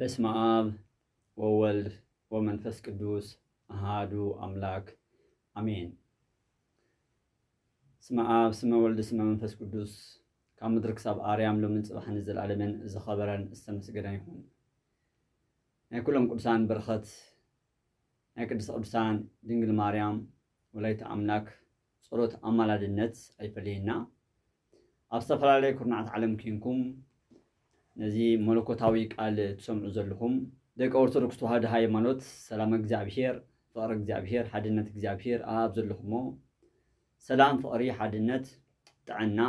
በስመ አብ ወወልድ ወመንፈስ ቅዱስ አሃዱ አምላክ አሜን። ስመ አብ ስመ ወልድ ስመ መንፈስ ቅዱስ ካብ ምድሪ ክሳብ ኣርያም ሎምን ጽባሕን ዘለዓለምን ዝኸበረን ዝተመስገነ ይኹን። ናይ ኩሎም ቅዱሳን በረኸት ናይ ቅድስተ ቅዱሳን ድንግል ማርያም ወላዲተ ኣምላክ ጸሎት ኣማላድነት ኣይፈለየና። ኣብ ዝተፈላለየ ኩርናዓት ዓለም ኪንኩም ነዚ መለኮታዊ ቃል ትሰምዑ ዘለኹም ደቂ ኦርቶዶክስ ተዋህዶ ሃይማኖት ሰላም እግዚኣብሔር፣ ፍቕሪ እግዚኣብሔር፣ ሓድነት እግዚኣብሔር ኣብ ዘለኹሞ ሰላም፣ ፍቕሪ፣ ሓድነት፣ ጥዕና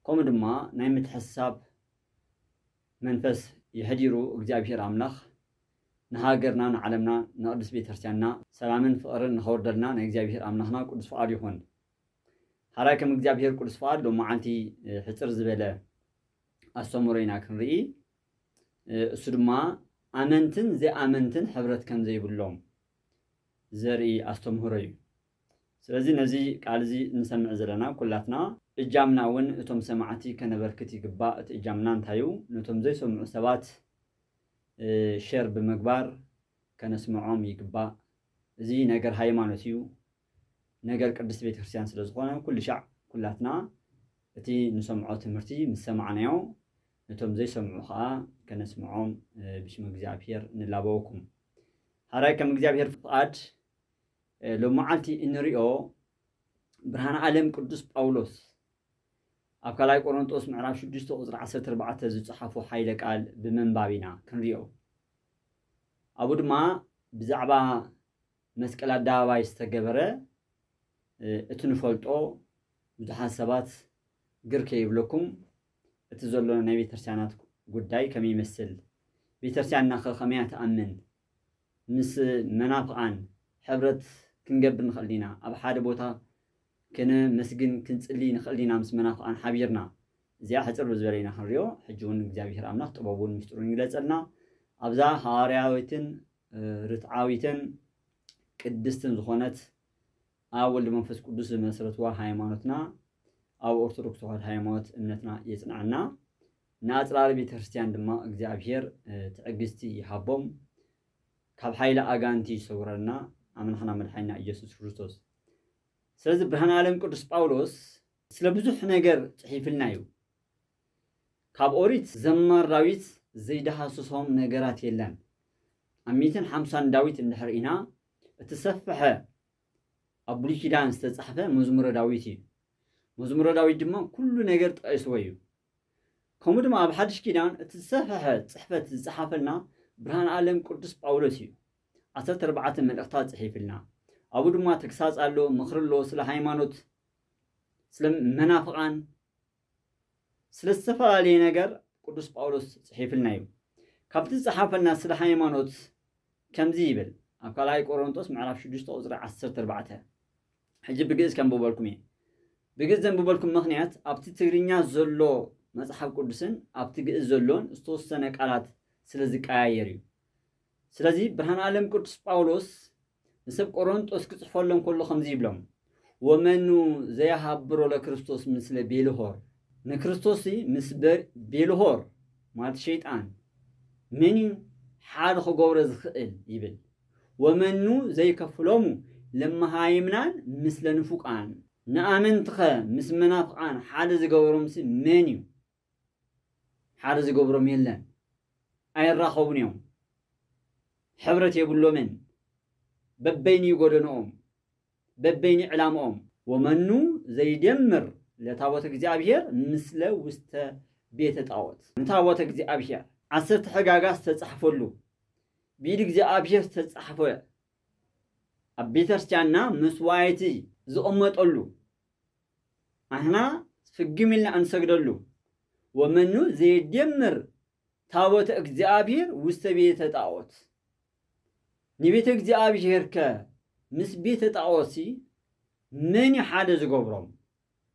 ከምኡ ድማ ናይ ምትሕስሳብ መንፈስ የሕዲሩ እግዚኣብሔር ኣምላኽ ንሃገርና፣ ንዓለምና፣ ንቅድስት ቤተክርስትያንና ሰላምን ፍቕርን ንኸውርደልና ናይ እግዚኣብሔር ኣምላኽና ቅዱስ ፍቓድ ይኹን። ሓራይ ከም እግዚኣብሔር ቅዱስ ፍቓድ ሎም መዓልቲ ሕፅር ዝበለ ኣስተምህሮ ኢና ክንርኢ። እሱ ድማ ኣመንትን ዘይኣመንትን ሕብረት ከም ዘይብሎም ዘርኢ ኣስተምህሮ እዩ። ስለዚ ነዚ ቃል እዚ እንሰምዕ ዘለና ኩላትና እጃምና እውን እቶም ሰማዕቲ ከነበርክት ይግባእ። እቲ እጃምና እንታይ እዩ? ነቶም ዘይሰምዑ ሰባት ሸር ብምግባር ከነስምዖም ይግባእ። እዚ ነገር ሃይማኖት እዩ፣ ነገር ቅድስት ቤተክርስትያን ስለ ዝኾነ ኩሉ ሻዕ ኩላትና እቲ ንሰምዖ ትምህርቲ ምስ ሰማዕናዮ ነቶም ዘይሰምዑ ከዓ ከነስምዖም ብሽም እግዚኣብሔር ንላበወኩም። ሓራይ ከም እግዚኣብሔር ፍቓድ ሎመዓልቲ እንሪኦ ብርሃን ዓለም ቅዱስ ጳውሎስ ኣብ ካልኣይ ቆሮንጦስ ምዕራፍ ሽዱሽተ ቁፅሪ ዓሰርተ ኣርባዕተ ዝፀሓፎ ሓይለ ቃል ብምንባብ ኢና ክንሪኦ። ኣብኡ ድማ ብዛዕባ መስቀል ኣደባባይ ዝተገበረ እቲ ንፈልጦ ብዙሓት ሰባት ግር ከይብለኩም እቲ ዘሎ ናይ ቤተክርስትያናት ጉዳይ ከመይ ይመስል፣ ቤተክርስትያንና ከ ከመይ እያ ትኣምን፣ ምስ መናፍቓን ሕብረት ክንገብር ንኽእል ኢና፣ ኣብ ሓደ ቦታ ከነመስግን ክንጽሊ ንኽእል ኢና ምስ መናፍቓን ሓቢርና። እዚኣ ሕጽር ብዝበለ ኢና ክንሪኦ። ሕጂ እውን እግዚኣብሔር ኣምላኽ ጥበቡን ምስጢሩን ይግለጸልና። ኣብዛ ሃዋርያዊትን ርትዓዊትን ቅድስትን ዝኾነት ኣብ ወልድ መንፈስ ቅዱስ ዝመስረትዋ ሃይማኖትና ኣብ ኦርቶዶክስ ተዋህዶ ሃይማኖት እምነትና የጽንዐና። ንኣጽራሪ ቤተክርስትያን ድማ እግዚኣብሔር ትዕግስቲ ይሃቦም፣ ካብ ሓይሊ ኣጋንቲ ይሰውረና ኣምላኽና መድሓኒና ኢየሱስ ክርስቶስ። ስለዚ ብርሃን ዓለም ቅዱስ ጳውሎስ ስለ ብዙሕ ነገር ጽሒፍልና እዩ። ካብ ኦሪት ዘማር ዳዊት ዘይደሃስሶም ነገራት የለን። ኣብ ሚእትን ሓምሳን ዳዊት እንድሕር ኢና እቲ ሰፍሐ ኣብ ብሉይ ኪዳን ዝተጻሕፈ መዝሙረ ዳዊት እዩ። መዝሙረ ዳዊት ድማ ኩሉ ነገር ጠቒስዎ እዩ። ከምኡ ድማ ኣብ ሓድሽ ኪዳን እቲ ዝሰፍሐ ጽሕፈት ዝጸሓፈልና ብርሃን ዓለም ቅዱስ ጳውሎስ እዩ። ዓሰርተ ኣርባዕተ መልእኽታት ጽሒፍልና። ኣብኡ ድማ ተግሳጽ ኣሎ፣ ምኽሪ ኣሎ፣ ስለ ሃይማኖት፣ ስለ መናፍቓን፣ ስለ ዝተፈላለየ ነገር ቅዱስ ጳውሎስ ጽሒፍልና እዩ። ካብቲ ዝጸሓፈልና ስለ ሃይማኖት ከምዚ ይብል ኣብ ካልኣይ ቆሮንቶስ ምዕራፍ ሽዱሽተ ቁጽሪ ዓሰርተ ኣርባዕተ። ሕጂ ብግእዝ ከንብበልኩም እየ። ብግእዝ ዘንብበልኩም ምኽንያት ኣብቲ ትግርኛ ዘሎ መጽሓፍ ቅዱስን ኣብቲ ግእዝ ዘሎን ዝተወሰነ ቃላት ስለ ዝቀያየር እዩ። ስለዚ ብርሃን ዓለም ቅዱስ ጳውሎስ ንሰብ ቆሮንጦስ ክጽሕፈሎም ከሎ ከምዚ ይብሎም፣ ወመኑ ዘየሃብሮ ለክርስቶስ ምስለ ቤልሆር፣ ንክርስቶስ ምስ ቤልሆር ማለት ሸይጣን መን እዩ ሓደ ክገብሮ ዝኽእል ይብል። ወመኑ ዘይከፍሎሙ ለመሃይምናን ምስለ ንፉቃን፣ ንኣመንትኸ ምስ መናፍቃን ሓደ ዝገበሮምሲ መን እዩ? ሓደ ዝገብሮም የለን። ኣይራኸቡን እዮም። ሕብረት የብሎምን። በበይኑ እዩ ጎደንኦም፣ በበይኑ ዕላምኦም። ወመኑ ዘይደምር ለታቦት እግዚኣብሔር ምስለ ውስተ ቤተ ጣዖት። ንታቦት እግዚኣብሔር ዓሰርተ ሕጋጋ ዝተጻሕፈሉ፣ ብኢድ እግዚኣብሔር ዝተጻሕፈ፣ ኣብ ቤተክርስትያንና መስዋዕቲ ዝቕመጠሉ፣ ኣሕና ፍግም ኢልና እንሰግደሉ። ወመኑ ዘይደምር ታቦተ እግዚኣብሔር ውስተ ቤተ ጣዖት። ንቤተ እግዚኣብሔር ከ ምስ ቤተ ጣዖትሲ መን እዩ ሓደ ዝገብሮም?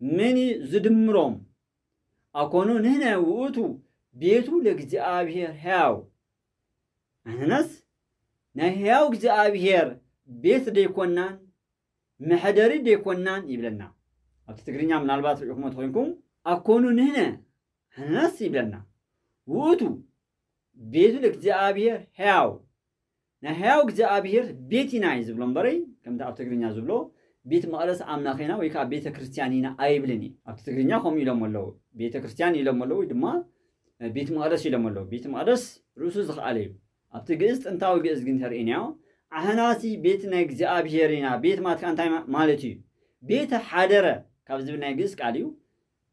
መን እዩ ዝድምሮም? ኣኮኑ ንሕነ ውእቱ ቤቱ ለእግዚኣብሔር ሕያው። ኣሕናስ ናይ ሕያው እግዚኣብሔር ቤት ደይኮናን መሐደሪ ደይኮናን ይብለና። ኣብቲ ትግርኛ ምናልባት ርኢኹሞ ተኾይንኩም ኣኮኑ ንሕነ ኣሕናስ ይብለና። ውእቱ ቤቱ ለእግዚኣብሔር ሕያው፣ ናይ ሕያው እግዚኣብሔር ቤት ኢና እዩ ዝብሎ እምበረይ፣ ከምቲ ኣብ ትግርኛ ዝብሎ ቤት መቕደስ ኣምላኽ ኢና ወይ ከዓ ቤተ ክርስቲያን ኢና ኣይብልን እዩ። ኣብቲ ትግርኛ ከምኡ ኢሎም ኣለዉ፣ ቤተ ክርስቲያን ኢሎም ኣለዉ ወይ ድማ ቤት መቕደስ ኢሎም ኣለዉ። ቤት መቕደስ ርእሱ ዝኸኣለ እዩ። ኣብቲ ግእዝ፣ ጥንታዊ ግእዝ ግን ተርእይናዮ፣ ኣሕናሲ ቤት ናይ እግዚኣብሔር ኢና። ቤት ማለት ከዓ እንታይ ማ- ማለት እዩ? ቤተ ሓደረ ካብ ዝብል ናይ ግእዝ ቃል እዩ።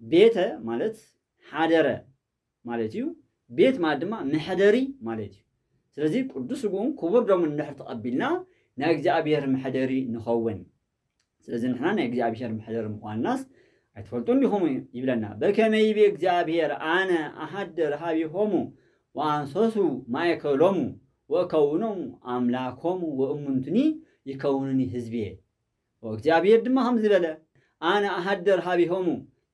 ቤተ ማለት ሓደረ ማለት እዩ። ቤት ማለት ድማ መሐደሪ ማለት እዩ። ስለዚ ቅዱስ ስግኡን ክቡር ደሙን እንድሕር ተቐቢልና ናይ እግዚኣብሔር መሐደሪ ንኸውን። ስለዚ ንሕና ናይ እግዚኣብሔር መሐደሪ ምዃንናስ ኣይትፈልጡን ዲኹም ይብለና። በከመ ይቤ እግዚኣብሔር ኣነ ኣሃድር ሀቢሆሙ ወኣንሰሱ ማእከሎሙ ወእከውኖሙ ኣምላኮሙ ወእሙንቱኒ ይከውኑኒ ህዝብየ። ወእግዚኣብሔር ድማ ከምዚ በለ፣ ኣነ ኣሃድር ሀቢሆሙ፣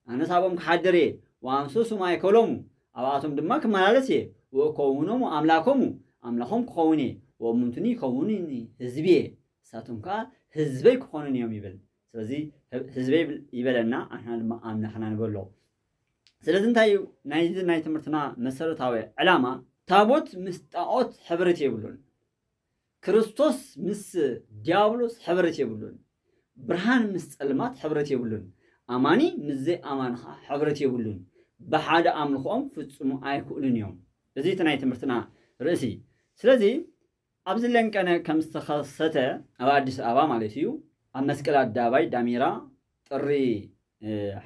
ኣነ ሳቦም ክሓድር እየ፣ ወኣንሰሱ ማእከሎሙ፣ ኣብኣቶም ድማ ክመላለስ እየ፣ ወእከውኖሙ ኣምላኮሙ፣ ኣምላኾም ክኸውን እየ፣ ወእሙንቱኒ ይከውኑኒ ህዝብየ፣ ንሳቶም ከዓ ህዝበይ ክኾኑን እዮም ይብል። ስለዚ ህዝበይ ይብል- ይበለና፣ ኣሕና ድማ ኣምላኽና ንበሎ። ስለዚ እንታይ እዩ ናይዚ ናይ ትምህርትና መሰረታዊ ዕላማ? ታቦት ምስ ጣዖት ሕብረት የብሉን። ክርስቶስ ምስ ዲያብሎስ ሕብረት የብሉን። ብርሃን ምስ ጸልማት ሕብረት የብሉን። ኣማኒ ምስ ዘይኣማኒ ኸዓ ሕብረት የብሉን። ብሓደ ኣምልኾኦም ፍጹሙ ኣይክእሉን እዮም። እዚ እቲ ናይ ትምህርትና ርእሲ። ስለዚ ኣብዚ ለንቀነ ከም ዝተኸሰተ ኣብ ኣዲስ ኣበባ ማለት እዩ ኣብ መስቀል ኣደባባይ ዳሜራ ጥሪ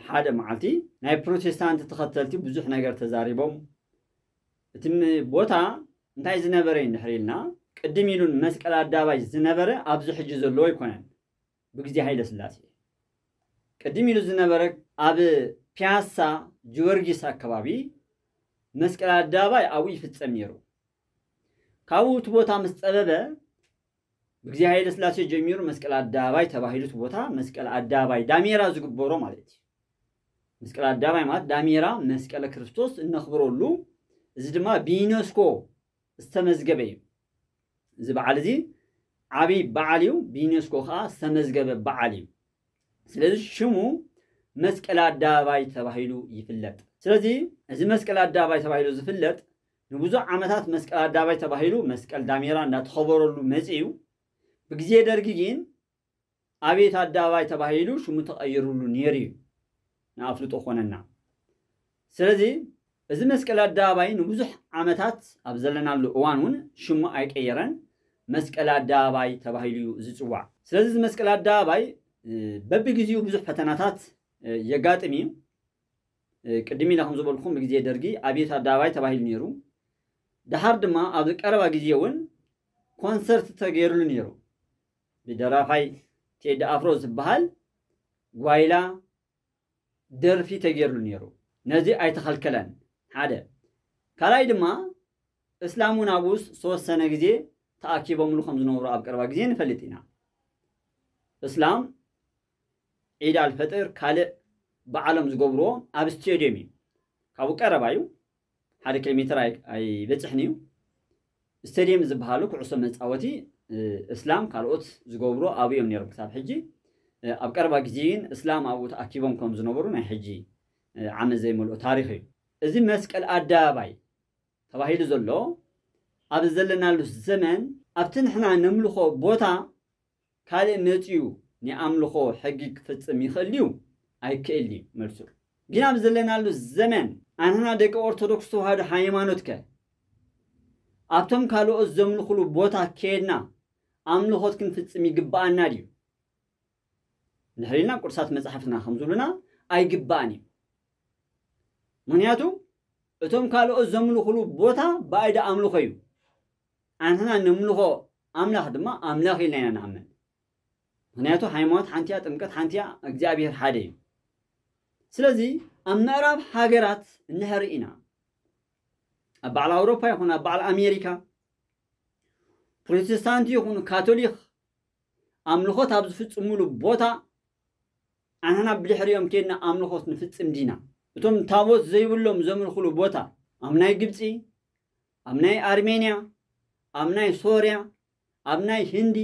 ሓደ መዓልቲ ናይ ፕሮቴስታንት ተኸተልቲ ብዙሕ ነገር ተዛሪቦም። እቲ ቦታ እንታይ ዝነበረ እዩ እንድሕር ኢልና ቅድም ኢሉን መስቀል ኣደባባይ ዝነበረ ኣብዚ ሕጂ ዘለዎ ኣይኮነን። ብግዜ ሃይለ ስላሴ ቅድም ኢሉ ዝነበረ ኣብ ፒያሳ ጊዮርጊስ ኣከባቢ መስቀል ኣደባባይ ኣብኡ ይፍጸም ነይሩ። ካብኡ እቲ ቦታ ምስ ጸበበ ብግዜ ሃይለ ስላሴ ጀሚሩ መስቀል ኣደባባይ ተባሂሉ እቲ ቦታ መስቀል ኣደባባይ ዳሜራ ዝግበሮ ማለት እዩ። መስቀል ኣደባባይ ማለት ዳሜራ መስቀለ ክርስቶስ እነኽብረሉ፣ እዚ ድማ ብዩኔስኮ ዝተመዝገበ እዩ። እዚ በዓል እዚ ዓብይ በዓል እዩ፣ ብዩኔስኮ ከዓ ዝተመዝገበ በዓል እዩ። ስለዚ ሽሙ መስቀል ኣደባባይ ተባሂሉ ይፍለጥ። ስለዚ እዚ መስቀል ኣደባባይ ተባሂሉ ዝፍለጥ ንብዙሕ ዓመታት መስቀል ኣደባባይ ተባሂሉ መስቀል ዳሜራ እንዳተኸበረሉ መፂኡ። ብግዜ ደርጊ ግን ኣብየት ኣደባባይ ተባሂሉ ሽሙ ተቐይሩሉ ነይሩ እዩ፣ ንኣፍልጦ ኮነና። ስለዚ እዚ መስቀል ኣደባባይ ንብዙሕ ዓመታት ኣብ ዘለናሉ እዋን እውን ሽሙ ኣይቀየረን፣ መስቀል ኣደባባይ ተባሂሉ እዩ ዝፅዋዕ። ስለዚ እዚ መስቀል ኣደባባይ በብግዜኡ ብዙሕ ፈተናታት የጋጥም እዩ። ቅድም ኢለ ከም ዝበልኩም ብግዜ ደርጊ ኣብየት ኣደባባይ ተባሂሉ ነይሩ። ደሓር ድማ ኣብዚ ቀረባ ግዜ እውን ኮንሰርት ተገይሩሉ ነይሩ። ብደራፋይ ቴዲ ኣፍሮ ዝበሃል ጓይላ ደርፊ ተገይሩሉ ነይሩ። ነዚ ኣይተኸልከለን። ሓደ ካልኣይ ድማ እስላም እውን ኣብኡ ዝተወሰነ ግዜ ተኣኪቦምሉ ከም ዝነበሩ ኣብ ቀረባ ግዜ ንፈልጥ ኢና። እስላም ዒድ ኣልፈጥር ካልእ በዓሎም ዝገብርዎ ኣብ ስቴድየም እዩ። ካብኡ ቀረባ እዩ፣ ሓደ ኪሎ ሜትር ኣይ- ኣይበፅሕን እዩ። ስቴድየም ዝበሃሉ ኩዕሶ መፃወቲ እስላም ካልኦት ዝገብርዎ ኣብኡ እዮም ነይሮም ክሳብ ሕጂ። ኣብ ቀረባ ግዜ ግን እስላም ኣብኡ ተኣኪቦም ከም ዝነበሩ ናይ ሕጂ ዓመት ዘይመልኦ ታሪኽ እዩ። እዚ መስቀል ኣደባባይ ተባሂሉ ዘሎ ኣብዚ ዘለናሉ ዘመን ኣብቲ ንሕና ነምልኾ ቦታ ካልእ መፂኡ ናይ ኣምልኾ ሕጊ ክፍፅም ይኽእል ድዩ? ኣይክእል እዩ መልሱ። ግን ኣብ ዘለናሉ ዘመን ኣንሕና ደቂ ኦርቶዶክስ ተዋህዶ ሃይማኖት ከ ኣብቶም ካልኦት ዘምልኹሉ ቦታ ከይድና ኣምልኾት ክንፍፅም ይግብኣና ድዩ? እንድሕር ኢልና ቅዱሳት መፅሓፍትና ከም ዝብሉና ኣይግባእን እዩ። ምክንያቱ እቶም ካልኦት ዘምልኹሉ ቦታ ባዕዲ ኣምልኾ እዩ። ኣንሕና ነምልኾ ኣምላኽ ድማ ኣምላኽ ኢልና ኢና ንኣምን። ምክንያቱ ሃይማኖት ሓንቲ እያ፣ ጥምቀት ሓንቲ እያ፣ እግዚኣብሔር ሓደ እዩ። ስለዚ ኣብ ምዕራብ ሃገራት እንድሕር ኢና ኣብ በዓል ኣውሮፓ ይኹን ኣብ በዓል ኣሜሪካ ፕሮቴስታንት ይኹን ካቶሊክ ኣምልኾት ኣብ ዝፍፅሙሉ ቦታ ኣንሕና ብድሕሪኦም ከይድና ኣምልኾት ንፍፅም ዲና? እቶም ታቦት ዘይብሎም ዘምልኹሉ ቦታ ኣብ ናይ ግብፂ፣ ኣብ ናይ ኣርሜንያ፣ ኣብ ናይ ሶርያ፣ ኣብ ናይ ህንዲ፣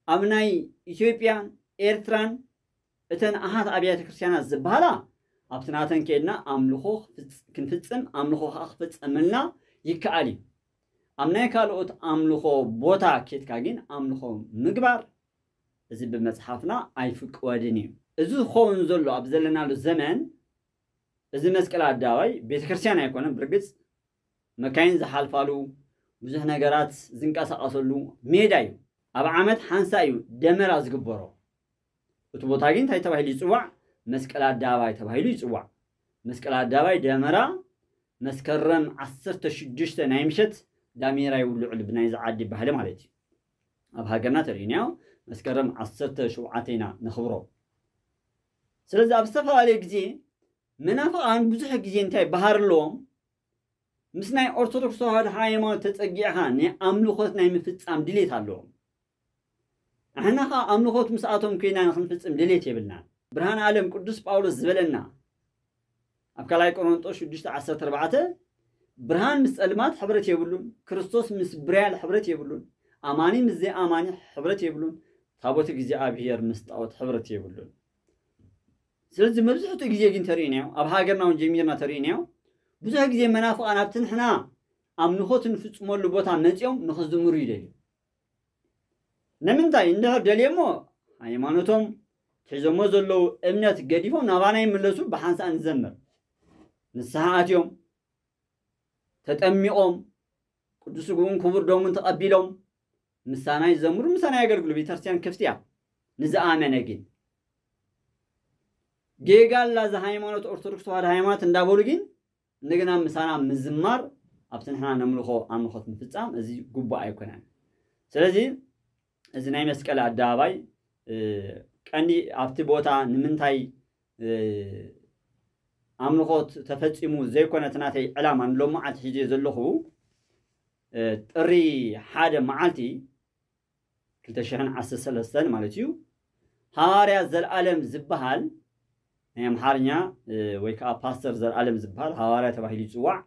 ኣብ ናይ ኢትዮጵያን ኤርትራን እተን ኣሃት ኣብያተ ክርስቲያናት ዝበሃላ ኣብቲ ናተን ከይድና ኣምልኾ ክንፍፅም ኣምልኾ ከዓ ክፍፀመልና ይከኣል እዩ። ኣብ ናይ ካልኦት ኣምልኾ ቦታ ኬድካ ግን ኣምልኾ ምግባር እዚ ብመጽሓፍና ኣይፍቀድን እዩ። እዚ ዝኸውን ዘሎ ኣብ ዘለናሉ ዘመን እዚ መስቀል ኣደባባይ ቤተክርስትያን ኣይኮነን። ብርግጽ መካይን ዝሓልፋሉ፣ ብዙሕ ነገራት ዝንቀሳቐሰሉ ሜዳ እዩ። ኣብ ዓመት ሓንሳ እዩ ደመራ ዝግበሮ። እቲ ቦታ ግን እንታይ ተባሂሉ ይጽዋዕ? መስቀል ኣደባባይ ተባሂሉ ይጽዋዕ። መስቀል ኣደባባይ ደመራ መስከረም ዓሰርተ ሽዱሽተ ናይ ምሸት ዳሜራ ይውልዑሉ፣ ብናይዚ ዓዲ ባህሊ ማለት እዩ። ኣብ ሃገርና ተርእዩና መስከረም ዓሰርተ ሸውዓተ ኢና ነኽብሮ። ስለዚ ኣብ ዝተፈላለየ ግዜ መናፍቓን ብዙሕ ግዜ እንታይ ባህር ኣለዎም? ምስ ናይ ኦርቶዶክስ ተዋህዶ ሃይማኖት ተጸጊዕኻ ናይ ኣምልኾት ናይ ምፍጻም ድሌት ኣለዎም። ንሕና ኸዓ ኣምልኾት ምስኣቶም ኮይና ንኽንፍጽም ድሌት የብልናን። ብርሃን ዓለም ቅዱስ ጳውሎስ ዝበለና ኣብ ካልኣይ ቆሮንጦስ ሽዱሽተ ዓሰርተ ኣርባዕተ፣ ብርሃን ምስ ጸልማት ሕብረት የብሉን፣ ክርስቶስ ምስ ብርያል ሕብረት የብሉን፣ ኣማኒ ምስ ዘይኣማኒ ሕብረት የብሉን፣ ታቦት እግዚኣብሔር ምስ ጣዖት ሕብረት የብሉን። ስለዚ መብዝሕትኡ ግዜ ግን ተርእዩናዮ፣ ኣብ ሃገርና እውን ጀሚርና ተርእዩናዮ፣ ብዙሕ ግዜ መናፍቓን ኣብቲ ንሕና ኣምልኾት እንፍጽመሉ ቦታ መጺኦም ንኽዝምሩ ይደልዩ። ንምንታይ? እንድሕር ደልየሞ ሃይማኖቶም ሒዞሞ ዘለዉ እምነት ገዲፎም ናባና ይምለሱ፣ ብሓንሳእ ንዘምር። ንስሓ ኣትዮም፣ ተጠሚቖም፣ ቅዱስ ስግኡን ክቡር ደሙን ተቐቢሎም ምሳና ይዘምሩ፣ ምሳና የገልግሉ። ቤተክርስትያን ክፍቲ እያ ንዝኣመነ። ግን ጌጋ ኣላ እዛ ሃይማኖት፣ ኦርቶዶክስ ተዋህዶ ሃይማኖት እንዳበሉ ግን እንደገና ምሳና ምዝማር ኣብቲ ንሕና ነምልኾ ኣምልኾት ምፍጻም እዚ ግቡእ ኣይኮነን። ስለዚ እዚ ናይ መስቀል ኣደባባይ እ፣ ቀንዲ ኣብቲ ቦታ ንምንታይ እ፣ ኣምልኾት ተፈጺሙ ዘይኮነ እቲ ናተይ ዕላማ ንሎሚ መዓልቲ ሒዘ ዘለኹ እ፣ ጥሪ ሓደ መዓልቲ ክልተ ሽሕን ዓሰርተ ሰለስተን ማለት እዩ። ሃዋርያ ዘልኣለም ዝበሃል ናይ ኣምሓርኛ እ፣ ወይ ከዓ ፓስተር ዘልኣለም ዝበሃል ሃዋርያ ተባሂሉ ይጽዋዕ።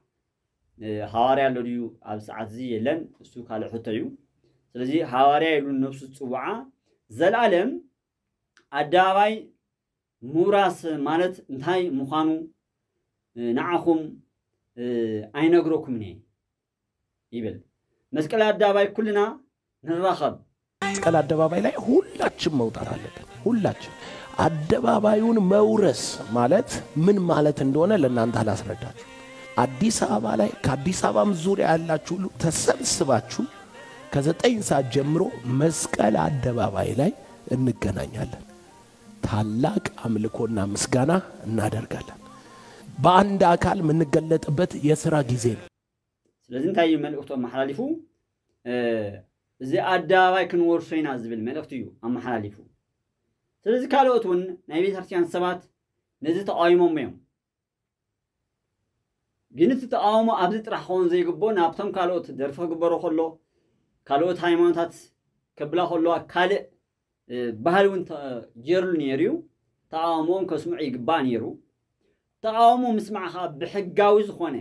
እ፣ ሃዋርያ ኣሎ ድዩ ኣብ ሰዓት እዚ? የለን፣ እሱ ካልእ ሕቶ እዩ። ስለዚ ሃዋርያ ኢሉ ነብሱ ዝጽውዓ ዘልኣለም ኣደባባይ ምውራስ ማለት እንታይ ምዃኑ እ፣ ንዓኹም እ፣ ኣይነግረኩምን እየ ይብል። መስቀል ኣደባባይ ኩልና ንራኸብ። መስቀል አደባባይ ላይ ሁላችን መውጣት አለብን። ሁላችን አደባባዩን መውረስ ማለት ምን ማለት እንደሆነ ለእናንተ አላስረዳችሁ። አዲስ አበባ ላይ ከአዲስ አበባም ዙሪያ ያላችሁ ሁሉ ተሰብስባችሁ ከዘጠኝ ሰዓት ጀምሮ መስቀል አደባባይ ላይ እንገናኛለን። ታላቅ አምልኮና ምስጋና እናደርጋለን። በአንድ አካል የምንገለጥበት የስራ ጊዜ ነው። ስለዚ እንታይ እዩ መልእኽቱ ኣመሓላሊፉ? እ፣ እዚ ኣደባባይ ክንወርሶ ኢና ዝብል መልእኽቲ እዩ ኣመሓላሊፉ። ስለዚ ካልኦት እውን ናይ ቤተክርስትያን ሰባት ነዚ ተቃዊሞም እዮም። ግን እቲ ተቃውሞ ኣብዚ ጥራሕ ክኸውን ዘይግብኦ፣ ናብቶም ካልኦት ደርፊ ክግበሮ ከሎ፣ ካልኦት ሃይማኖታት ከብላ ከለዋ፣ ካልእ እ፣ ባህሊ እውን ተጀርሉ ነይሩ እዩ። ተቃውሞኦም ከስምዑ ይግባእ ነይሩ። ተቃውሞ ምስማዕ ከዓ ብሕጋዊ ዝኾነ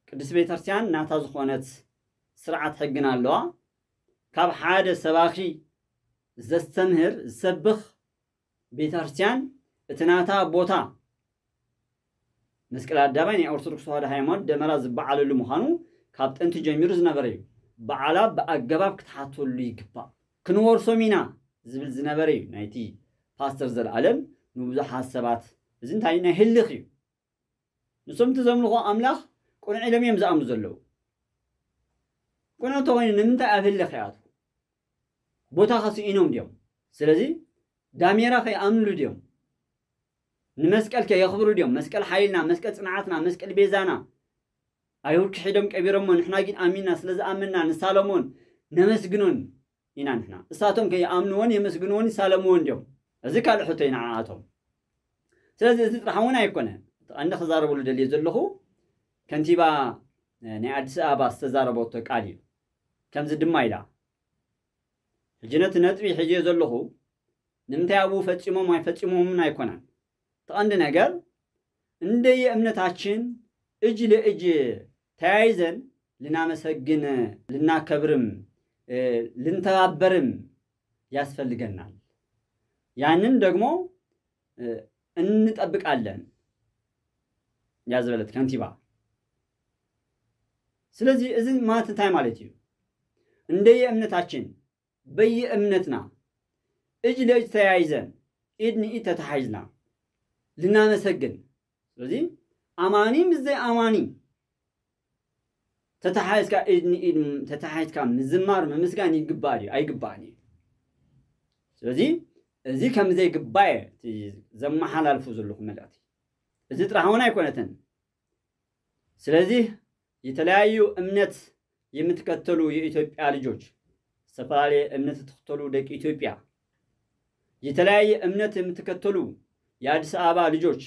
ቅድስት ቤተክርስትያን ናታ ዝኾነት ስርዓት ሕግን ኣለዋ። ካብ ሓደ ሰባኺ ዘስተምህር ዝሰብኽ ቤተክርስትያን እቲ ናታ ቦታ መስቀል ኣደባባይ ናይ ኦርቶዶክስ ተዋህዶ ሃይማኖት ደመራ ዝበዓለሉ ምዃኑ ካብ ጥንቲ ጀሚሩ ዝነበረ እዩ። በዓላ ብኣገባብ ክትሓተሉ ይግባእ። ክንወርሶም ኢና ዝብል ዝነበረ እዩ ናይቲ ፓስተር ዘለኣለም ንብዙሓት ሰባት። እዚ እንታይ ናይ ህልኽ እዩ። ንሶም እቲ ዘምልኾ ኣምላኽ ቅኑዕ ኢሎም እዮም ዝኣምኑ ዘለዉ። ቅኑዕ እንተኾይኑ ንምንታይ ኣብ ህልኽ ይኣትዉ? ቦታ ከስኢኖም ድዮም? ስለዚ ዳሜራ ከይኣምንሉ ድዮም? ንመስቀል ከየኽብሩ ድዮም? መስቀል ሓይልና፣ መስቀል ጽንዓትና፣ መስቀል ቤዛና። ኣይሁድ ክሒዶም ቀቢሮሞ፣ ንሕና ግን ኣሚንና፣ ስለ ዝኣመንና ንሳለሞን ነመስግኖን ኢና ንሕና። እሳቶም ከይኣምንዎን የመስግንዎን ይሳለምዎን ድዮም? እዚ ካልእ ሕቶ እዩ ንዓኣቶም። ስለዚ እዚ ጥራሕ እውን ኣይኮነ። እቲ ቀንዲ ክዛረበሉ ደልየ ዘለኹ ከንቲባ ናይ ኣዲስ ኣበባ ዝተዛረበቶ ቃል እዩ። ከምዚ ድማ ኢላ፣ ሕጂ ነቲ ነጥቢ ሒዝዮ ዘለኹ ንምንታይ ኣብኡ ፈጺሞም ኣይፈጺሞምን ኣይኮነን። እቲ ቀንዲ ነገር እንደየ እምነታችን እጅ ለእጅ ተያይዘን ልናመሰግን ልናከብርም እ፣ ልንተባበርም ያስፈልገናል። ያንን ደግሞ እ፣ እንጠብቃለን እያ ዝበለት ከንቲባ። ስለዚህ እዚ ማለት እንታይ ማለት እዩ? እንደየ እምነታችን በየ እምነትና እጅ ለእጅ ተያይዘን ኢድ ንኢድ ተተሓይዝና ልናመሰግን። ስለዚህ ኣማኒ ምስ ዘይኣማኒ ተተሓይዝካ ኢድ ንኢድ ተተሓይዝካ ምዝማር ምምስጋን ይግባእ ድዩ? ኣይግባእን እዩ። ስለዚህ እዚ ከም ዘይግባእ እቲ ዘመሓላልፉ ዘለኹ መልእኽቲ እዚ ጥራሕ እውን ኣይኮነትን። ስለዚህ የተለያዩ እምነት የምትከተሉ የኢትዮጵያ ልጆች፣ ዝተፈላለየ እምነት የምትከተሉ ደቂ ኢትዮጵያ፣ የተለያየ እምነት የምትከተሉ የአዲስ አበባ ልጆች፣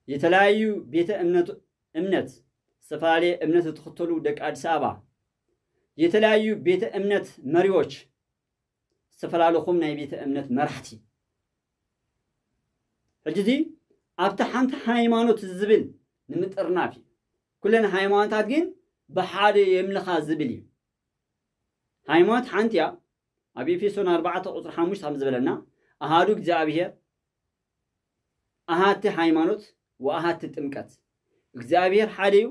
የተለያዩ ቤተ እምነት እምነት ዝተፈላለየ እምነት የምትከተሉ ደቂ አዲስ አበባ፣ የተለያዩ ቤተ እምነት መሪዎች፣ ዝተፈላለኹም ናይ ቤተ እምነት መራሕቲ፣ ሕጂ እዚ ኣብቲ ሓንቲ ሃይማኖት ዝብል ንምጥርናፍ እዩ። ኩለን ሃይማኖታት ግን ብሓደ የምልኻ ዝብል እዩ። ሃይማኖት ሓንቲ እያ። ኣብ ኤፌሶን ኣርባዕተ ቁፅሪ ሓሙሽተ ከም ዝበለና ኣሃዱ እግዚኣብሔር፣ ኣሃቲ ሃይማኖት ወኣሃቲ ጥምቀት። እግዚኣብሔር ሓደ እዩ።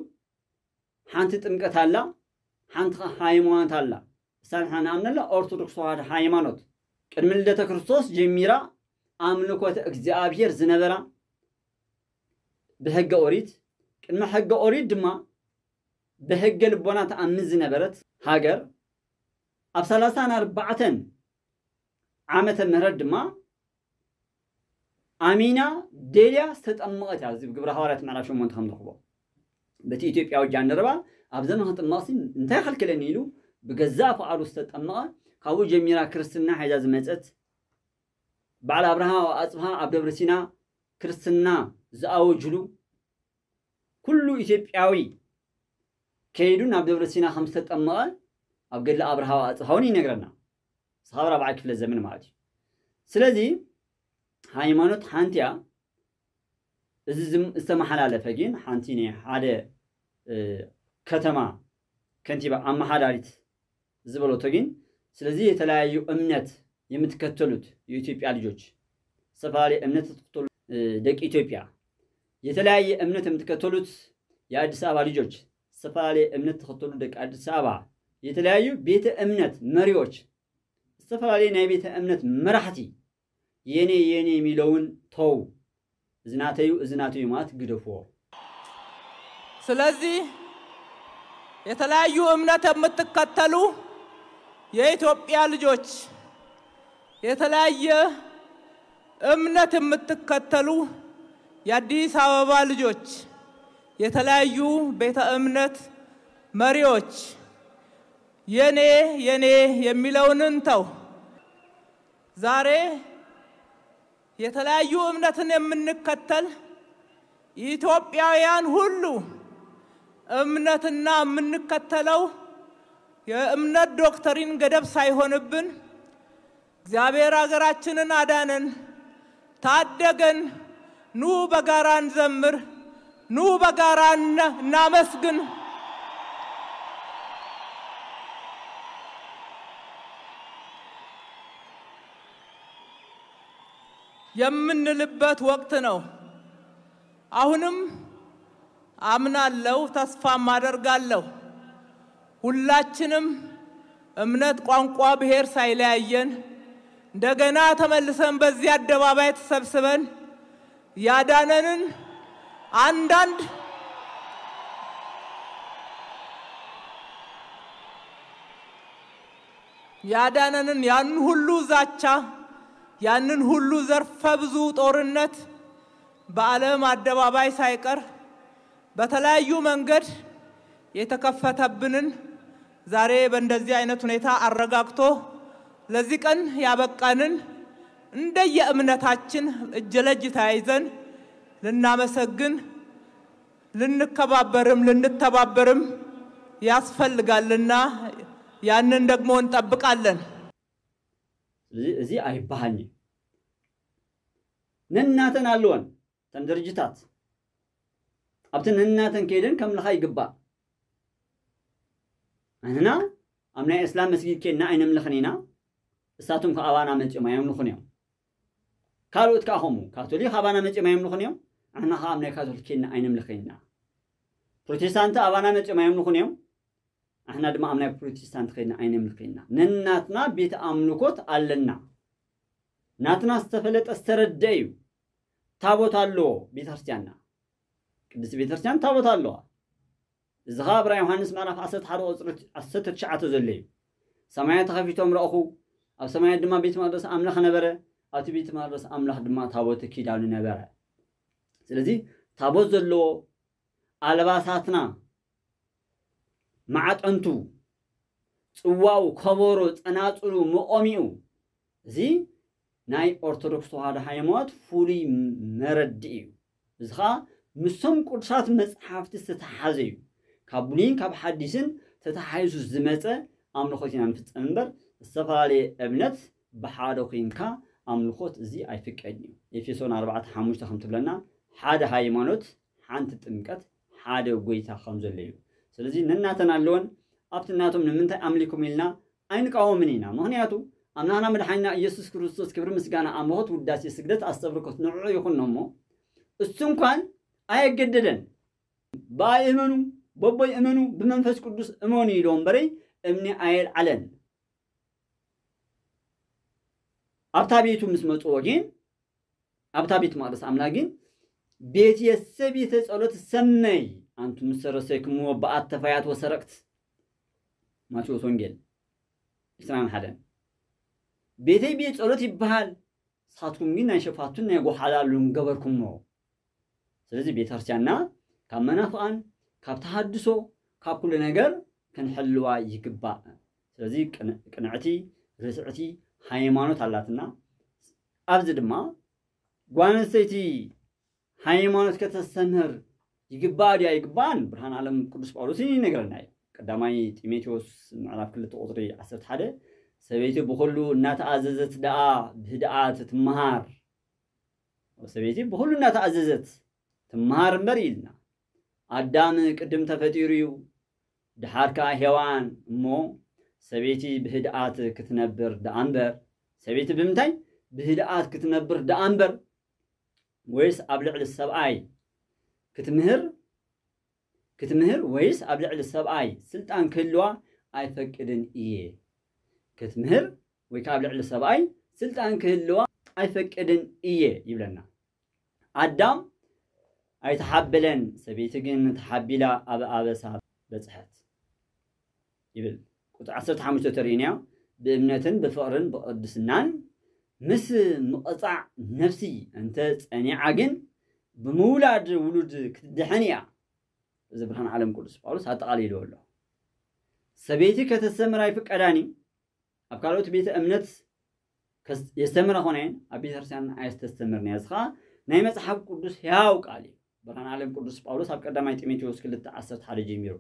ሓንቲ ጥምቀት ኣላ፣ ሓንቲ ኸ ሃይማኖት ኣላ። እሳ ንሕና ንኣምነላ ኦርቶዶክስ ተዋህዶ ሃይማኖት ቅድሚ ልደተ ክርስቶስ ጀሚራ ኣምልኮተ እግዚኣብሔር ዝነበራ ብሕገ ኦሪት፣ ቅድሚ ሕገ ኦሪት ድማ ብሕገ ልቦና ተኣምን ዝነበረት ሃገር ኣብ ሰላሳን ኣርባዕተን ዓመተ ምህረት ድማ ኣሚና ደልያ ዝተጠመቐት እያ። እዚ ግብረ ሃዋርያት ምዕራፍ ሸሞንተ ከም ንረኽቦ በቲ ኢትዮጵያዊ ጃንደረባ ኣብ ዘመን ክጥመቕሲ እንታይ ከልክለኒ ኢሉ ብገዛእ ፍቓዱ ዝተጠመቐ፣ ካብኡ ጀሚራ ክርስትና ሒዛ ዝመፀት፣ በዓል ኣብርሃ ኣፅብሃ ኣብ ደብረ ሲና ክርስትና ዝኣወጅሉ፣ ኩሉ ኢትዮጵያዊ ከይዱ ናብ ደብረ ሲና ከም ዝተጠመቐ ኣብ ገድሊ ኣብርሃ ኣፅብሃ እውን ይነግረና። ስኻብ ራብዓይ ክፍለ ዘመን ማለት እዩ። ስለዚ ሃይማኖት ሓንቲ እያ። እዚ ዝም- ዝተመሓላለፈ ግን ሓንቲ ናይ ሓደ እ፣ ከተማ ከንቲባ ኣመሓዳሪት ዝበለቶ ግን፣ ስለዚህ የተለያዩ እምነት የምትከተሉት የኢትዮጵያ ልጆች፣ ዝተፈላለየ እምነት የምትከተሉ እ፣ ደቂ ኢትዮጵያ፣ የተለያየ እምነት የምትከተሉት የአዲስ አበባ ልጆች፣ ዝተፈላለየ እምነት ተኸተሉ ደቂ አዲስ አበባ፣ የተለያዩ ቤተ እምነት መሪዎች፣ ዝተፈላለየ ናይ ቤተ እምነት መራሕቲ የኔ የኔ የሚለውን ተው። እዚ ናተዩ እዚ ናተዩ ማለት ግደፍዎ። ስለዚህ የተለያዩ እምነት የምትከተሉ የኢትዮጵያ ልጆች፣ የተለያየ እምነት የምትከተሉ የአዲስ አበባ ልጆች፣ የተለያዩ ቤተ እምነት መሪዎች የኔ የኔ የሚለውን እንተው። ዛሬ የተለያዩ እምነትን የምንከተል ኢትዮጵያውያን ሁሉ እምነትና የምንከተለው የእምነት ዶክትሪን ገደብ ሳይሆንብን እግዚአብሔር ሀገራችንን አዳነን፣ ታደገን። ኑ በጋራ እንዘምር፣ ኑ በጋራ እነ- እናመስግን የምንልበት ወቅት ነው። አሁንም አምናለሁ፣ ተስፋም አደርጋለሁ። ሁላችንም እምነት፣ ቋንቋ፣ ብሔር ሳይለያየን እንደገና ተመልሰን በዚህ አደባባይ ተሰብስበን ያዳነንን አንዳንድ ያዳነንን ያን ሁሉ ዛቻ፣ ያንን ሁሉ ዘርፈ ብዙ ጦርነት በዓለም አደባባይ ሳይቀር በተለያዩ መንገድ የተከፈተብንን ዛሬ በእንደዚህ አይነት ሁኔታ አረጋግቶ ለዚህ ቀን ያበቃንን እንደየእምነታችን እጅ ለእጅ ተያይዘን ልናመሰግን፣ ልንከባበርም ልንተባበርም ያስፈልጋልና ያንን ደግሞ እንጠብቃለን። እዚ እዚ ኣይበሃልኒ። ነናተን ኣለወን፣ እተን ድርጅታት ኣብቲ ነናተን ከይደን ከምልኻ ይግባእ። ንሕና ኣብ ናይ እስላም መስጊድ ኬድና ኣይነምልኽን ኢና፣ እሳቶም ከኣ ኣባና መጺኦም ኣየምልኹን እዮም። ካልኦት ከኣ ከምኡ፣ ካቶሊክ ኣባና መጺኦም ኣየምልኹን እዮም፣ ንሕና ከኣ ኣብ ናይ ካቶሊክ ኬድና ኣይነምልኽን ኢና። ፕሮቴስታንት ኣባና መፅኦም ኣየምልኹን እዮም። ኣሕና ድማ ኣብ ናይ ፕሮቴስታንት ከይድና ኣይነምልኽ ኢና። ነናትና ቤት ኣምልኮት ኣለና። ናትና ዝተፈለጠ ዝተረደ እዩ። ታቦት ኣለዎ ቤተክርስትያንና። ቅድስቲ ቤተክርስትያን ታቦት ኣለዋ። እዚ ኸዓ ኣብ ራእይ ዮሃንስ ምዕራፍ ዓሰርተ ሓደ ቁፅሪ ዓሰርተ ትሽዓተ ዘሎ እዩ። ሰማያት ተኸፊቶም ረእኹ፣ ኣብ ሰማያት ድማ ቤት መቕደስ ኣምላኽ ነበረ፣ ኣብቲ ቤት መቕደስ ኣምላኽ ድማ ታቦተ ኪዳኑ ነበረ። ስለዚ ታቦት ዘለዎ ኣልባሳትና፣ ማዕጠንቱ፣ ፅዋኡ፣ ከበሮ፣ ፀናፅሉ፣ መቖሚኡ፣ እዚ ናይ ኦርቶዶክስ ተዋህዶ ሃይማኖት ፍሉይ መረድእ እዩ። እዚ ኸዓ ምስቶም ቅዱሳት መፅሓፍቲ ዝተተሓዘ እዩ። ካብ ብሉይን ካብ ሓዲስን ተተሓይዙ ዝመፀ ኣምልኾት ኢና ንፍፀም እምበር ዝተፈላለየ እምነት ብሓደ ኮይንካ ኣምልኾት እዚ ኣይፍቀድን እዩ። ኤፌሶን ኣርባዕተ ሓሙሽተ ከም ትብለና ሓደ ሃይማኖት፣ ሓንቲ ጥምቀት፣ ሓደ ጎይታ ከም ዘሎ እዩ። ስለዚ ነናተን ኣለወን ኣብቲ ናቶም ንምንታይ ኣምሊኩም ኢልና ኣይንቃወምን ኢና። ምኽንያቱ ኣምላኽና መድሓኒና ኢየሱስ ክርስቶስ ክብሪ ምስጋና ኣምልኾት ውዳሴ ስግደት ኣስተብርኮት ንዕዑ ይኹን እሞ እሱ እንኳን ኣየገደደን። ብኣይ እመኑ፣ በቦይ እመኑ፣ ብመንፈስ ቅዱስ እመኑ ኢሎ እምበረይ እምኒ ኣየልዓለን። ኣብታ ቤቱ ምስ መጽዎ ግን ኣብታ ቤት መቕደስ ኣምላኽ ግን ቤትየሰ ቤተ ጸሎት ሰመይ ኣንቱም ሰረሰይክምዎ በኣት ተፋያት ወሰረቅት። ማቴዎስ ወንጌል ዕስራን ሓደን። ቤተይ ቤት ጸሎት ይበሃል፣ ንስኻትኩም ግን ናይ ሸፋቱን ናይ ጎሓላሉን ገበርኩሞ። ስለዚ ቤተክርስትያንና ካብ መናፍቓን፣ ካብ ተሃድሶ፣ ካብ ኩሉ ነገር ክንሕልዋ ይግባእ። ስለዚ ቅንዕቲ ርትዕቲ ሃይማኖት ኣላትና። ኣብዚ ድማ ጓል ኣንስተይቲ ሃይማኖት ከተስተምህር ይግባእ ድያ ይግባእን? ብርሃን ዓለም ቅዱስ ጳውሎስ ይነግረና እዩ። ቀዳማይ ጢሞቴዎስ ምዕራፍ ክልተ ቁፅሪ ዓሰርተ ሓደ፣ ሰበይቲ ብኹሉ እናተኣዘዘት ደኣ ብህድኣት ትመሃር። ሰበይቲ ብኹሉ እናተኣዘዘት ትመሃር እምበር ኢልና። ኣዳም ቅድም ተፈጢሩ እዩ፣ ድሓር ከኣ ሄዋን። እሞ ሰበይቲ ብህድኣት ክትነብር ደኣ እምበር፣ ሰበይቲ ብምንታይ ብህድኣት ክትነብር ደኣ እምበር፣ ወይስ ኣብ ልዕሊ ሰብኣይ ክትምህር ክትምህር ወይስ ኣብ ልዕሊ ሰብኣይ ስልጣን ክህልዋ ኣይፈቅድን እየ። ክትምህር ወይ ከዓ ኣብ ልዕሊ ሰብኣይ ስልጣን ክህልዋ ኣይፈቅድን እየ ይብለና። ኣዳም ኣይተሓበለን፣ ሰበይቲ ግን ተሓቢላ ኣብ ኣበሳ በፅሐት ይብል። ቁፅሪ ዓሰርተ ሓሙሽተ ተርእዩንያ፣ ብእምነትን ብፍቕርን ብቕድስናን ምስ ምቕፃዕ ነፍሲ እንተ ፀኒዓ ግን ብምውላድ ውሉድ ክትድሕን እያ። እዚ ብርሃን ዓለም ቅዱስ ጳውሎስ ኣጠቓሊልዎ ኣሎ። ሰበይቲ ከተስተምር ኣይፍቀዳን እዩ። ኣብ ካልኦት ቤተ እምነት ከስ- የስተምራ ኾነ ኣብ ቤተክርስትያን ኣይስተስተምርን እያ። እዚ ኸዓ ናይ መጽሓፍ ቅዱስ ሕያው ቃል እዩ። ብርሃን ዓለም ቅዱስ ጳውሎስ ኣብ ቀዳማይ ጢሞቴዎስ ክልተ ዓሰርተ ሓደ ጀሚሩ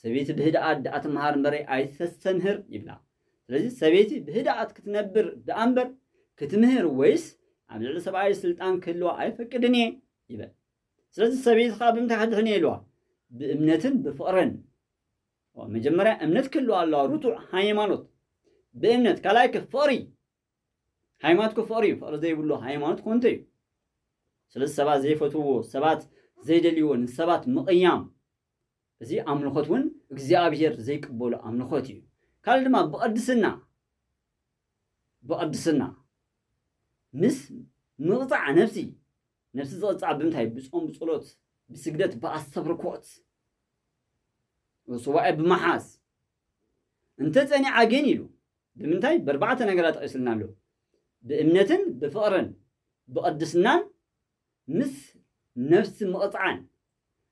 ሰበይቲ ብህድኣት ደኣ ትመሃር እምበረይ ኣይተስተምህር ይብላ። ስለዚ ሰበይቲ ብህድኣት ክትነብር ደኣ እምበር ክትምህር ወይስ ኣብ ልዕሊ ሰብኣይ ስልጣን ክህልዋ ኣይፈቅድን እየ ይበል። ስለዚ ሰበይቲ ከዓ ብምንታይ ከድሕን እየ ኢልዋ? ብእምነትን ብፍቕርን። መጀመርያ እምነት ክህልዋ ኣለዋ፣ ርቱዕ ሃይማኖት ብእምነት። ካልኣይ ከ ፍቕሪ። ሃይማኖት ከ ፍቕሪ እዩ። ፍቕሪ ዘይብሉ ሃይማኖት ኮንቶ እዩ። ስለዚ ሰባት ዘይፈትውዎ፣ ሰባት ዘይደልይዎ፣ ንሰባት ምቕያም፣ እዚ ኣምልኾት እውን እግዚኣብሔር ዘይቅበሎ ኣምልኾት እዩ። ካልእ ድማ ብቕድስና፣ ብቕድስና ምስ ምቕፃዕ ነፍሲ፣ ነፍሲ ዝቕፃዕ ብምንታይ? ብፆም፣ ብፀሎት፣ ብስግደት፣ ብኣስተብርኮት፣ ሱባኤ ብምሓዝ። እንተ ፀኒዓ ግን ኢሉ ብምንታይ? ብኣርባዕተ ነገራት ጠቒስልና ኣሎ። ብእምነትን ብፍቕርን ብቕድስናን ምስ ነፍሲ ምቕፃዕን።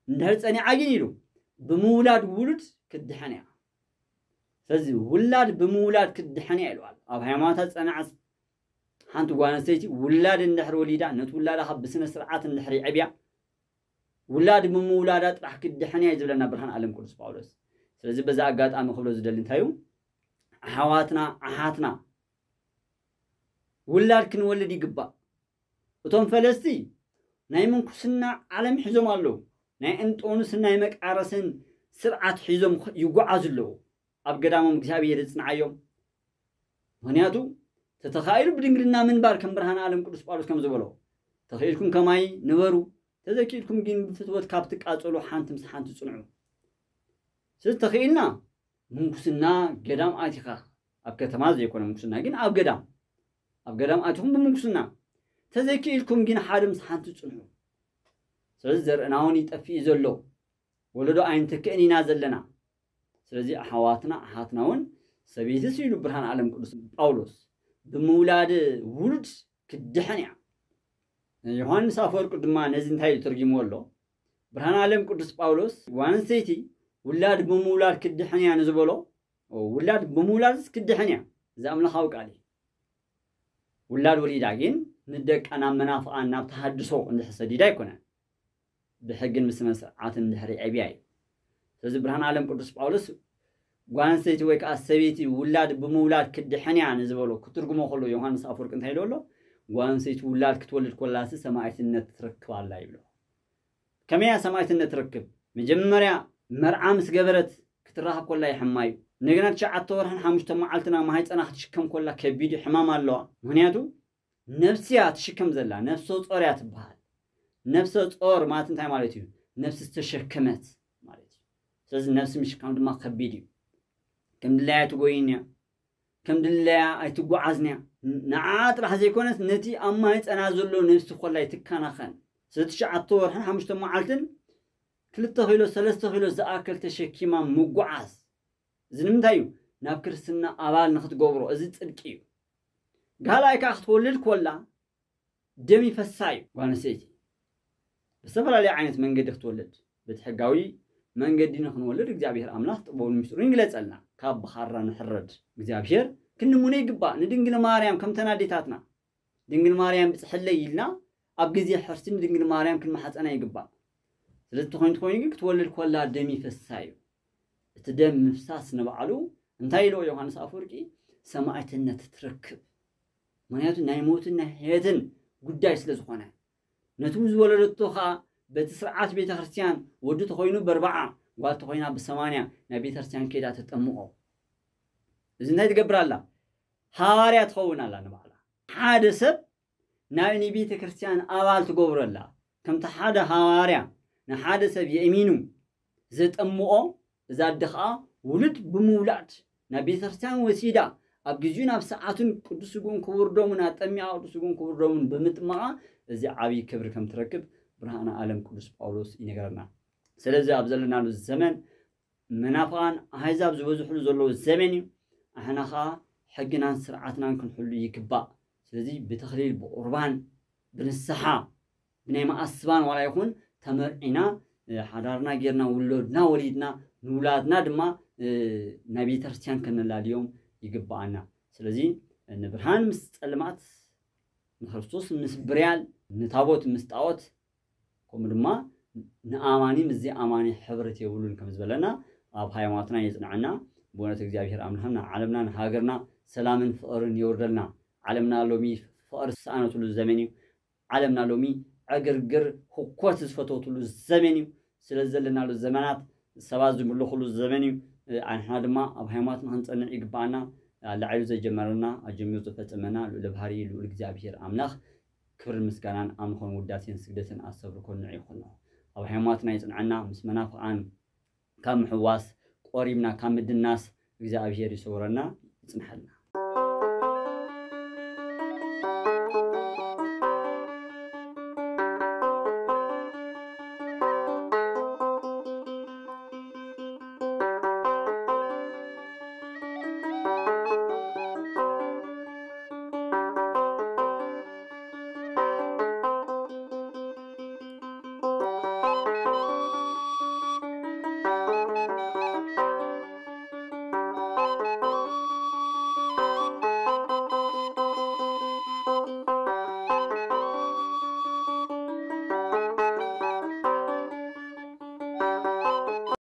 እንድሕር ፀኒዓ ግን ኢሉ ብምውላድ ውሉድ ክትድሕን እያ። ስለዚ ውላድ ብምውላድ ክትድሕን እያ ኢልዋል። ኣብ ሃይማኖታ ዝፀንዐት ሓንቲ ጓል ኣንስተይቲ ውላድ እንድሕር ወሊዳ ነቲ ውላዳ ካብ ብስነ ስርዓት እንድሕር የዕብያ ውላድ ብምውላዳ ጥራሕ ክትድሕን እያ እዩ ዝብለና ብርሃን ዓለም ቅዱስ ጳውሎስ። ስለዚ በዚ ኣጋጣሚ ክብሎ ዝደሊ እንታይ እዩ? ኣሕዋትና ኣሓትና ውላድ ክንወልድ ይግባእ። እቶም ፈለስቲ ናይ ምንኩስና ዓለም ሒዞም ኣለዉ። ናይ እንጦንስን ናይ መቃረስን ስርዓት ሒዞም ይጓዓዙ ኣለዉ። ኣብ ገዳሞም እግዚኣብሔር ይጽንዓዮም። ምኽንያቱ ተተኻኢሉ ብድንግልና ምንባር ከም ብርሃን ዓለም ቅዱስ ጳውሎስ ከም ዝበሎ ተኽኢልኩም ከማይ ንበሩ፣ ተዘኪኢልኩም ግን ብፍትወት ካብ ትቃጸሉ ሓንቲ ምስ ሓንቲ ጽንዑ። ስለዚ ተኽኢልና ምንኩስና ገዳም ኣቲኻ፣ ኣብ ከተማ ዘይኮነ ምንኩስና ግን ኣብ ገዳም ኣብ ገዳም ኣቲኹም ብምንኩስና፣ ተዘይክኢልኩም ግን ሓደ ምስ ሓንቲ ጽንሑ። ስለዚ ዘርእና እውን ይጠፍእ እዩ ዘሎ፣ ወለዶ ኣይንተክእን ኢና ዘለና። ስለዚ ኣሕዋትና ኣሓትና እውን ሰበይትስ ኢሉ ብርሃን ዓለም ቅዱስ ጳውሎስ ብምውላድ ውሉድ ክድሕን እያ። ዮሃንስ ኣፈወርቂ ድማ ነዚ እንታይ ኢሉ ተርጊምዎ ኣሎ? ብርሃን ዓለም ቅዱስ ጳውሎስ ጓል ኣንስተይቲ ውላድ ብምውላድ ክድሕን እያ ንዝበሎ፣ ውላድ ብምውላድስ ክድሕን እያ። እዚ ኣምላኻዊ ቃል እዩ። ውላድ ወሊዳ ግን ንደቃ ናብ መናፍቓን ናብ ተሃድሶ እንድሕር ሰዲዳ ኣይኮነን፣ ብሕግን ብስነ ስርዓትን እንድሕር የዕብያ እዩ። ስለዚ ብርሃን ዓለም ቅዱስ ጳውሎስ ጓል ኣንስተይቲ ወይ ከዓ ሰበይቲ ውላድ ብምውላድ ክድሕን እያ ንዝበሎ ክትርጉሞ ከሎ ዮሃንስ ኣፈወርቂ እንታይ ኢሉ ኣሎ? ጓል ኣንስተይቲ ውላድ ክትወልድ ኮላሲ ሰማዕትነት ትረክብ ኣላ ይብሎ። ከመይ እያ ሰማዕትነት ትረክብ? መጀመርያ መርዓ ምስ ገበረት ክትራኸብ ኮላ ይሕማ እዩ። እንደገና ትሽዓተ ወርሕን ሓሙሽተ መዓልትና ማህፀና ክትሽከም ኮላ ከቢድ እዩ፣ ሕማም ኣለዋ። ምክንያቱ ነፍሲ እያ ትሽከም ዘላ፣ ነፍሰ ጾር እያ ትበሃል። ነፍሰ ጾር ማለት እንታይ ማለት እዩ? ነፍሲ ዝተሸከመት ማለት እዩ። ስለዚ ነፍሲ ምሽካም ድማ ከቢድ እዩ። ከም ድላያ ትጎይን እያ፣ ከም ድላያ ኣይትጓዓዝን እያ። ንዓ ጥራሕ ዘይኮነስ ነቲ ኣብ ማህፀና ዘሎ ነፍሲ ኮላ ይትከናኸን። ስለዚ ትሽዓተ ወርሕን ሓሙሽተ መዓልትን ክልተ ኪሎ ሰለስተ ኪሎ ዝኣክል ተሸኪማ ምጉዓዝ። እዚ ንምንታይ እዩ? ናብ ክርስትና ኣባል ንክትገብሮ፣ እዚ ጽድቂ እዩ። ጋላይ ከዓ ክትወልድ ኮላ ደም ይፈሳ እዩ። ጓል ኣንስተይቲ ብዝተፈላለየ ዓይነት መንገዲ ክትወልድ፣ በቲ ሕጋዊ መንገዲ ንክንወልድ እግዚኣብሔር ኣምላኽ ጥበቡን ምስጢሩን ይግለጸልና። ካብ ብኻራ ንሕረድ እግዚኣብሔር ክንምነ ይግባእ። ንድንግል ማርያም ከምተን ኣዴታትና ድንግል ማርያም ብጽሕለይ ኢልና ኣብ ግዜ ሕርሲ ንድንግል ማርያም ክንመሓጸና ይግባእ። ስለዚ ተኾይኑ ተኾይኑ ግን ክትወልድ ኮላ ደም ይፈሳ እዩ። እቲ ደም ምፍሳስ ንባዕሉ እንታይ ኢልዎ ዮሃንስ ኣፈወርቂ? ሰማዕትነት ትረክብ። ምክንያቱ ናይ ሞትን ናይ ሕየትን ጉዳይ ስለ ዝኾነ፣ ነቲ ዝወለደቶ ኸዓ በቲ ስርዓት ቤተ ክርስቲያን ወዲ ተኾይኑ በርባዓ፣ ጓል ተኾይና ብሰማንያ ናይ ቤተ ክርስቲያን ከይዳ ተጠምቆ። እዚ እንታይ ትገብር ኣላ? ሃዋርያ ትኸውን ኣላ ንባዕላ። ሓደ ሰብ ናብ ናይ ቤተ ክርስቲያን ኣባል ትገብረላ። ከምቲ ሓደ ሃዋርያ ንሓደ ሰብ የእሚኑ ዘጠምቆ፣ እዛ ኣደ ኸዓ ውሉድ ብምውላድ ናብ ቤተ ክርስቲያን ወሲዳ ኣብ ግዜኡ ናብ ሰዓቱን ቅዱስ ስግኡን ክቡር ደሙን ኣጠሚቓ ቅዱስ ስግኡን ክቡር ደሙን ብምጥማቓ እዚ ዓብዪ ክብሪ ከም ትረክብ ብርሃነ ዓለም ቅዱስ ጳውሎስ ይነገረና። ስለዚ ኣብ ዘለናሉ ዘመን መናፍቓን ኣህዛብ ዝበዝሕሉ ዘለዉ ዘመን እዩ። ኣሕና ኸዓ ሕግናን ስርዓትናን ክንሕሉ ይግባእ። ስለዚ ብተኽሊል ብቑርባን ብንስሓ ብናይ መኣስባን ዋላ ይኹን ተመርዒና ሓዳርና ጌርና ውሎድና ወሊድና ንውላድና ድማ ናይ ቤተክርስትያን ከነላልዮም ይግብኣና። ስለዚ ንብርሃን ምስ ጸልማት ንክርስቶስ ምስ ብርያል ንታቦት ምስ ጣዖት ከምኡ ድማ ንኣማኒ ምስ ዘይኣማኒ ሕብረት የብሉን ከም ዝበለና ኣብ ሃይማኖትና የጽንዐና። ብእውነት እግዚኣብሔር ኣምላኽና ዓለምና ንሃገርና ሰላምን ፍቕርን የውርደልና። ዓለምና ሎሚ ፍቕሪ ዝሰኣነትሉ ዘመን እዩ። ዓለምና ሎሚ ዕግርግር ህኮት ዝፈተወትሉ ዘመን እዩ። ስለ ዘለናሉ ዘመናት ሰባት ዝምልኹሉ ዘመን እዩ። ኣንሕና ድማ ኣብ ሃይማኖትና ክንጸንዕ ይግባኣና። ኣላዒሉ ዘጀመረና ኣጀሚሩ ዝፈጸመና ልዑለ ባህሪ ልዑል እግዚኣብሔር ኣምላኽ ክብርን ምስጋናን ኣምልኾን ውዳሴን ስግደትን ኣስተብርኮን ንዑ ይኹን። ኣብ ሃይማኖትና ይጽንዐና፣ ምስ መናፍቓን ካብ ምሕዋስ ቆሪብና ካብ ምድናስ እግዚኣብሔር ይሰውረና ይጽንሐልና።